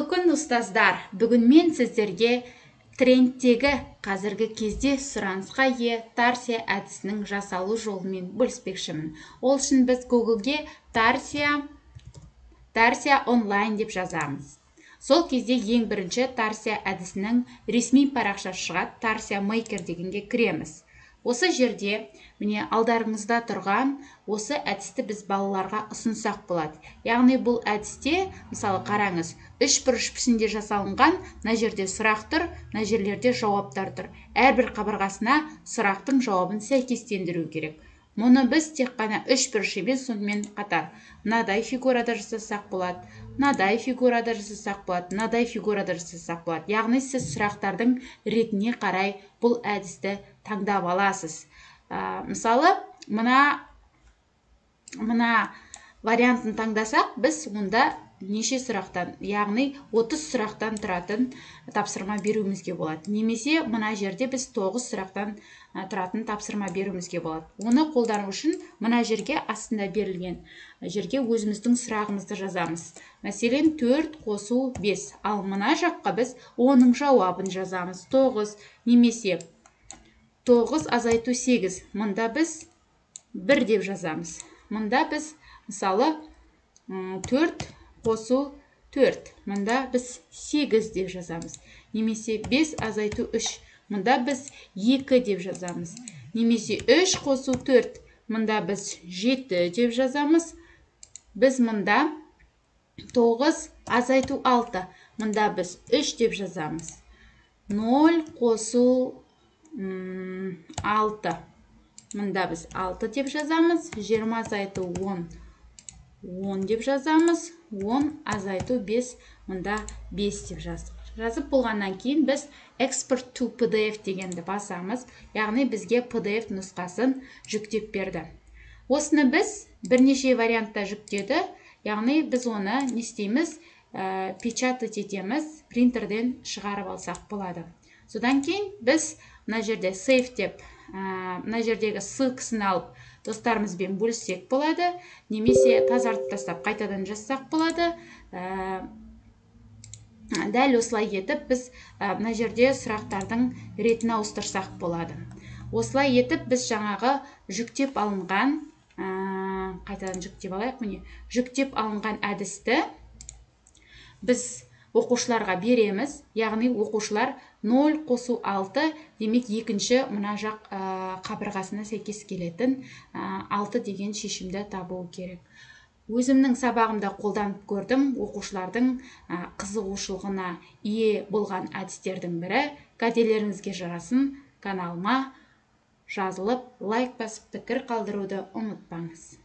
Қайырлы күн, ұстаздар. Бүгін мен сіздерге трендтегі қазіргі кезде сұранысқа ие Тарсия әдісінің жасалу жолымен бөліспекшімін. Ол үшін біз Google'ге Тарсия онлайн деп жазамыз. Сол кезде ең бірінші Тарсия әдісінің ресми парақшасы шығады, Тарсия Maker дегенге кіреміз. Осы жерде, міне алдарыңызда тұрған осы әдісті біз балаларға ұсынсақ болады. Яғни бұл әдісте, мысалы қараңыз, 3 бұрыш пішінде жасалынған, мына жерде сұрақ тұр, мына жерлерде жауаптар тұр. Әрбір қабырғасына сұрақтың жауабын сәйкестендіру керек. Мұны біз тек қана 3 бұрыш емес, сонымен қатар мынадай фигурада жасасақ болады, мынадай фигурада жасасақ болады, мынадай фигурада жасасақ болады. Яғни сіз сұрақтардың ретіне қарай бұл әдісті таңдап аласыз. Мысалы, мына вариантын таңдасақ, біз онда неше сұрақтан, яғни 30 сұрақтан тұратын тапсырма беруімізге болады. Немесе мына жерде біз 9 сұрақтан тұратын тапсырма беруімізге болады. Оны қолдану үшін мына жерге астында берілген жерге өзіміздің сұрағымызды жазамыз. Мәселен 4 қосу 5. Ал мына жаққа біз оның жауабын жазамыз. 9 немесе 9 азайту 8. Мұнда біз 1 деп жазамыз. Мұнда біз мысалы 4 қосу 4. Мұнда біз 8 деп жазамыз. Немесе 5 азайту 3. Мұнда біз 2 деп жазамыз. Немесе 3 қосу 4. Мұнда біз 7 деп жазамыз. Біз мұнда 9 азайту 6. Мұнда біз 3 деп жазамыз. 0 қосу 6. Мұнда біз 6 деп жазамыз. 20 азайту 10. 10 деп жазамыз. 10 азайту 5. Мұнда 5 деп жаздық. Жазып болғаннан кейін біз Export to PDF дегенді басамыз. Яғни бізге PDF нұсқасын жүктеп берді. Осыны біз бірнеше вариантта жүктеді. Яғни біз оны не істейміз? Печатать етеміз, принтерден шығарып алсақ болады. Содан кейін біз мына жерде save деп, мына жердегі ссылкасын алып достарымызбен бөліссек болады, немесе тазартып тастап қайтадан жазсақ болады. Дәл осылай етіп біз мына жерде сұрақтардың ретін ауыстырсақ болады. Осылай етіп біз жаңағы жүктеп алынған, қайтадан жүктеп алайық, міне, жүктеп алынған әдісті біз оқушыларға береміз. Яғни оқушылар 0 қосу 6, демек екінші мына жақ қабырғасына сәйкес келетін 6 деген шешімді табу керек. Өзімнің сабағымда қолданып көрдім. Оқушылардың қызығушылығына ие болған әдістердің бірі. Кәделеріңізге жарасын, каналыма жазылып, лайк басып, пікір қалдыруды ұмытпаңыз.